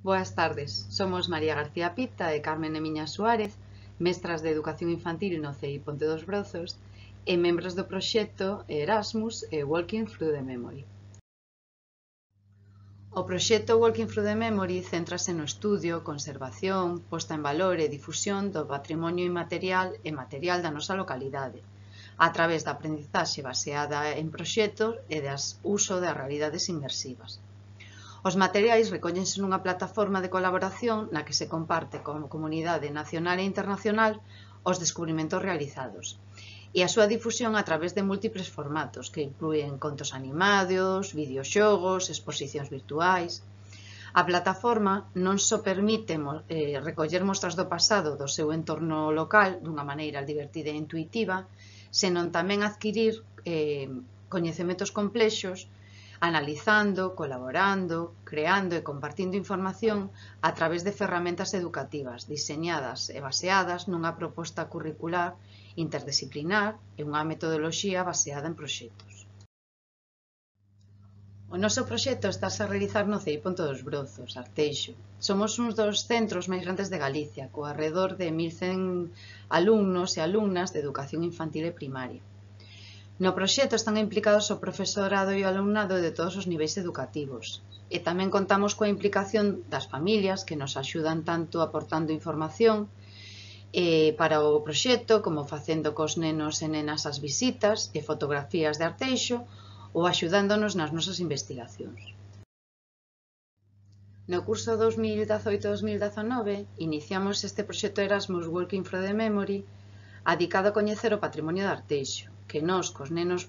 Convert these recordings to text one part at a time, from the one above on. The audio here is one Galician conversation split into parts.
Boas tardes, somos María García Pita e Carmen Emiña Suárez, mestras de Educación Infantil no CEI Ponte dos Brozos e membros do proxecto Erasmus e Walking Through the Memory. O proxecto Walking Through the Memory céntrase no estudio, conservación, posta en valor e difusión do patrimonio inmaterial e material da nosa localidade, a través da aprendizaxe baseada en proxectos e das uso das realidades inmersivas. Os materiais recóllense nunha plataforma de colaboración na que se comparte como comunidade nacional e internacional os descubrimentos realizados e a súa difusión a través de múltiples formatos que inclúen contos animados, videoxogos, exposicións virtuais. A plataforma non só permite recoller mostras do pasado do seu entorno local dunha maneira divertida e intuitiva, senón tamén adquirir coñecementos complexos analizando, colaborando, creando e compartindo información a través de ferramentas educativas diseñadas e baseadas nunha proposta curricular interdisciplinar e unha metodoloxía baseada en proxectos. O noso proxecto estáse a realizar no CEI Ponte dos Brozos, Arteixo. Somos uns dos centros máis grandes de Galicia, co arredor de 1100 alumnos e alumnas de educación infantil e primaria. No proxecto están implicados o profesorado e o alumnado de todos os niveis educativos e tamén contamos coa implicación das familias que nos axudan tanto aportando información para o proxecto como facendo cos nenos e nenas as visitas e fotografías de Arteixo ou axudándonos nas nosas investigacións. No curso 2018-2019 iniciamos este proxecto Erasmus Walking Through the Memory adicado a coñecer o patrimonio de Arteixo, que nós, cos nenos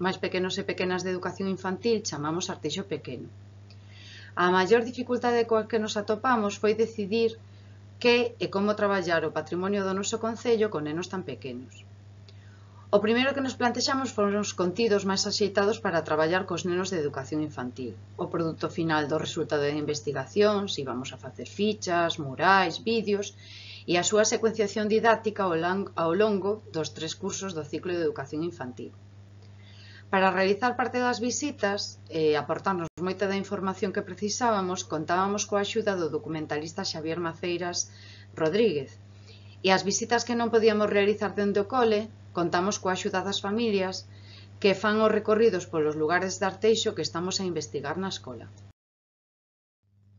máis pequenos e pequenas de educación infantil, chamamos Arteixo Pequeno. A maior dificultade coa que nos atopamos foi decidir que e como traballar o patrimonio do noso concello con nenos tan pequenos. O primeiro que nos plantexamos foron os contidos máis axeitados para traballar cos nenos de educación infantil. O produto final do resultado da investigación, se íbamos a facer fichas, murais, vídeos e a súa secuenciación didáctica ao longo dos 3 cursos do ciclo de educación infantil. Para realizar parte das visitas e aportarnos moita da información que precisábamos, contábamos coa axuda do documentalista Xavier Maceiras Rodríguez. E as visitas que non podíamos realizar dende o cole, contamos coa axuda das familias que fan os recorridos polos lugares de Arteixo que estamos a investigar na escola.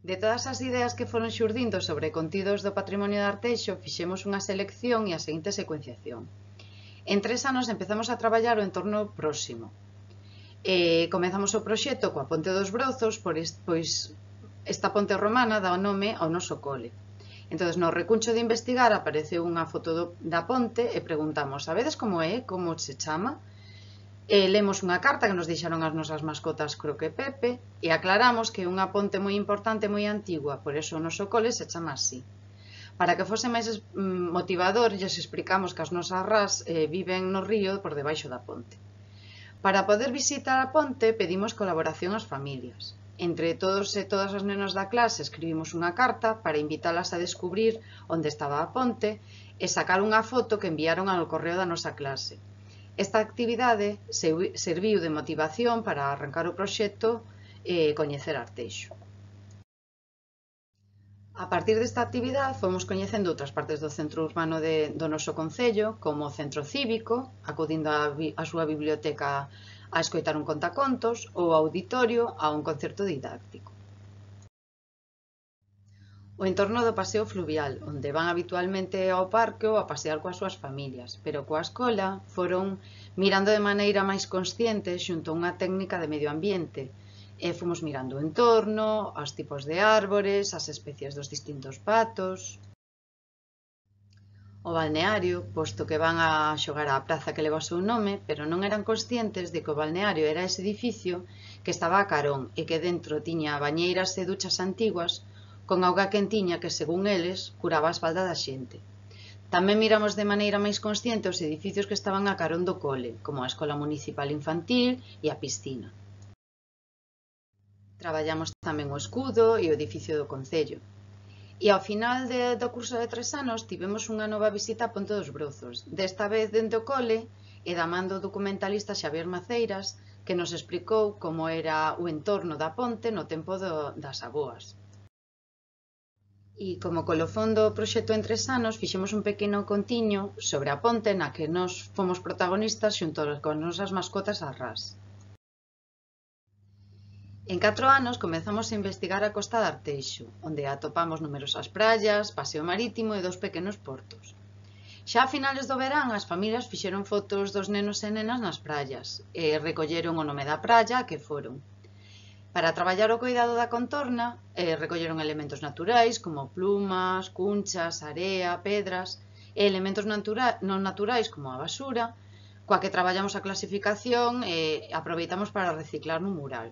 De todas as ideas que foron xurdindo sobre contidos do patrimonio de Arteixo, fixemos unha selección e a seguinte secuenciación. En 3 anos empezamos a traballar o entorno próximo. Comezamos o proxecto coa Ponte dos Brozos, pois esta ponte romana dá o nome ao noso cole. Entón, no recuncho de investigar apareceu unha foto da ponte e preguntamos: sabedes como é, como se chama? Lemos unha carta que nos deixaron as nosas mascotas Croque e Pepe e aclaramos que é unha ponte moi importante e moi antigua, por eso o noso cole se chama así. Para que fose máis motivador, lles explicamos que as nosas ras viven no río por debaixo da ponte. Para poder visitar a ponte pedimos colaboración ás familias. Entre todos e todas as nenos da clase escribimos unha carta para invitalas a descubrir onde estaba a ponte e sacar unha foto que enviaron ao correo da nosa clase. Esta actividade serviu de motivación para arrancar o proxecto e coñecer Arteixo. A partir desta actividade fomos coñecendo outras partes do centro urbano do noso concello, como o centro cívico, acudindo á súa biblioteca a escoitar un contacontos ou ao auditorio a un concerto didáctico. O entorno do paseo fluvial, onde van habitualmente ao parque ou a pasear coas súas familias, pero coa escola foron mirando de maneira máis consciente xunto a unha técnica de medio ambiente, fomos mirando o entorno, os tipos de árbores, as especies dos distintos patos. O balneario, posto que van a xogar á praza que leva o seu nome, pero non eran conscientes de que o balneario era ese edificio que estaba a carón e que dentro tiña bañeiras e duchas antiguas con auga quentiña que, según eles, curaba a espalda da xente. Tamén miramos de maneira máis consciente os edificios que estaban a carón do cole, como a Escola Municipal Infantil e a piscina. Traballamos tamén o escudo e o edificio do concello. E ao final do curso de 3 anos tivemos unha nova visita a Ponte dos Brozos, desta vez dende o cole e da man do documentalista Xavier Maceiras, que nos explicou como era o entorno da ponte no tempo das avoas. E como colofón do proxecto en 3 anos, fixemos un pequeno contiño sobre a ponte na que nós fomos protagonistas xunto con nosas mascotas as ras. En 4 anos comezamos a investigar a costa de Arteixo, onde atopamos numerosas praias, paseo marítimo e 2 pequenos portos. Xa a finales do verán, as familias fixeron fotos dos nenos e nenas nas praias e recolleron o nome da praia a que foron. Para traballar o cuidado da contorna, recolleron elementos naturais como plumas, cunchas, area, pedras e elementos non naturais como a basura, coa que traballamos a clasificación e aproveitamos para reciclar no mural.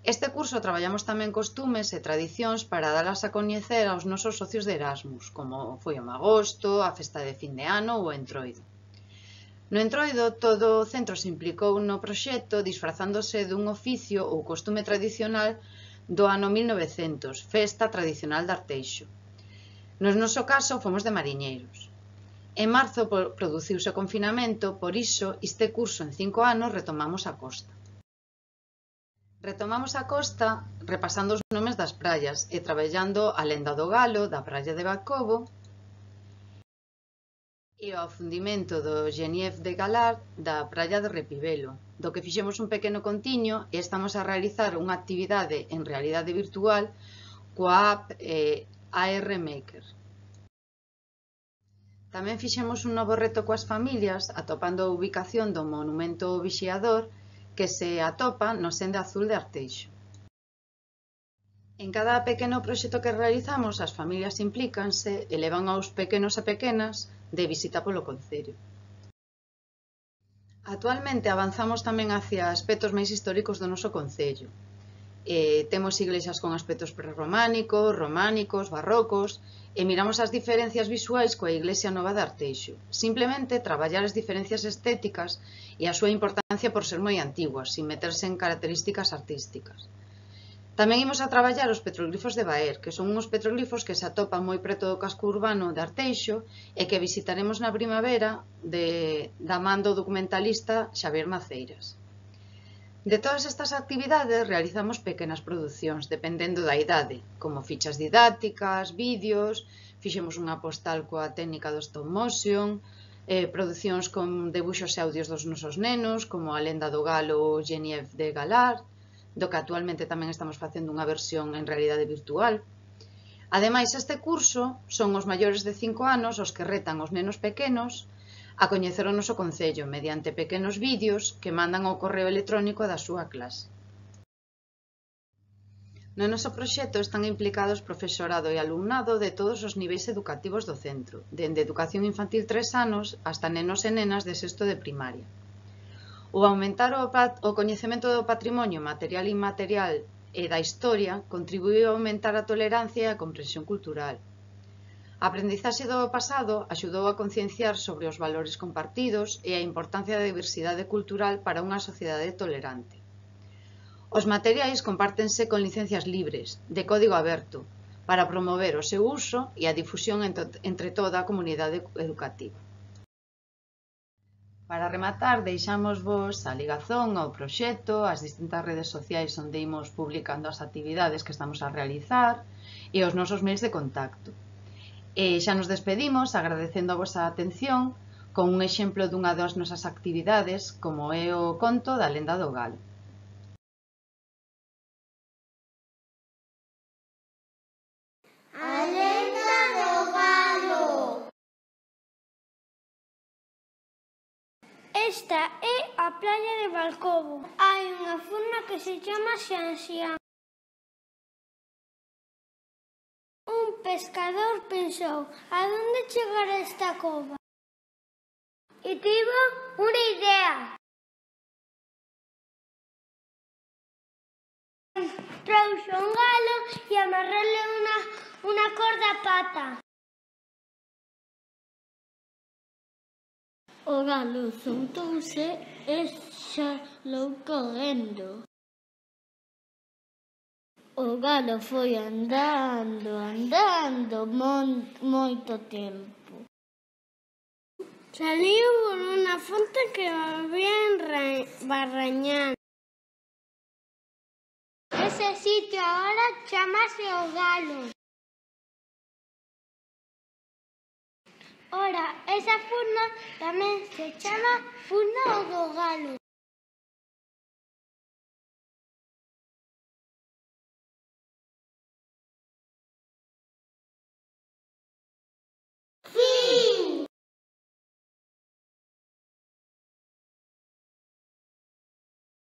Este curso traballamos tamén costumes e tradicións para dalas a coñecer aos nosos socios de Erasmus, como foi o Magosto, a festa de fin de ano ou o Entroido. No Entroido, todo o centro se implicou no proxecto disfrazándose dun oficio ou costume tradicional do ano 1900, festa tradicional de Arteixo. No noso caso, fomos de mariñeiros. En marzo produciuse o confinamento, por iso, este curso en 5 anos retomamos a costa. Retomamos a costa repasando os nomes das praias e traballando a lenda do Galo, da praia de Bacobo, e o afundimento do Genevieve de Galar da praia de Repibelo, do que fixemos un pequeno contiño e estamos a realizar unha actividade en realidade virtual coa app AR Maker. Tamén fixemos un novo reto coas familias atopando a ubicación do monumento Vixiador que se atopa no Senda Azul de Arteixo. En cada pequeno proxecto que realizamos, as familias implícanse e levan aos pequenos e pequenas de visita polo concello. Actualmente avanzamos tamén hacia aspectos máis históricos do noso concello. Temos iglesias con aspectos prerrománicos, románicos, barrocos e miramos as diferencias visuais coa iglesia nova de Arteixo. Simplemente traballar as diferencias estéticas e a súa importancia por ser moi antiguas, sin meterse en características artísticas. Tamén imos a traballar os petroglifos de Baer, que son uns petroglifos que se atopan moi preto do casco urbano de Arteixo e que visitaremos na primavera da man do documentalista Xavier Maceiras. De todas estas actividades realizamos pequenas producións, dependendo da idade, como fichas didácticas, vídeos, fixemos unha postal coa técnica do stop motion, producións con debuxos e audios dos nosos nenos, como a lenda do Galo Genevieve de Galar, do que actualmente tamén estamos facendo unha versión en realidade virtual. Ademais, este curso son os maiores de 5 anos os que retan os nenos pequenos a coñecer o noso concello mediante pequenos vídeos que mandan ao correo electrónico da súa clase. No noso proxecto están implicados profesorado e alumnado de todos os niveis educativos do centro, dende educación infantil 3 anos hasta nenos e nenas de sexto de primaria. O aumentar o coñecemento do patrimonio material e inmaterial e da historia contribuíu a aumentar a tolerancia e a comprensión cultural. A aprendizaxe do pasado axudou a concienciar sobre os valores compartidos e a importancia da diversidade cultural para unha sociedade tolerante. Os materiais compártense con licencias libres, de código aberto, para promover o seu uso e a difusión entre toda a comunidade educativa. Para rematar, deixamos vos a ligazón ao proxecto, as distintas redes sociais onde imos publicando as actividades que estamos a realizar e os nosos mails de contacto. E xa nos despedimos agradecendo a vosa atención con un exemplo dunha das nosas actividades como é o conto da lenda do Galo. A lenda do Galo. Esta é a praia de Balcobo. Hai unha forma que se chama Xanxián. Un pescador pensou, a donde chegar esta cova? E tivo unha idea. Trouxo un galo e amarrarle unha corda á pata. O galo soltouse e xalou correndo. O galo foi andando moito tempo. Saliu por unha fonte que había en Barrañán. Ese sitio agora chamase o Galo. Ora, esa furna tamén se chama furna do galo.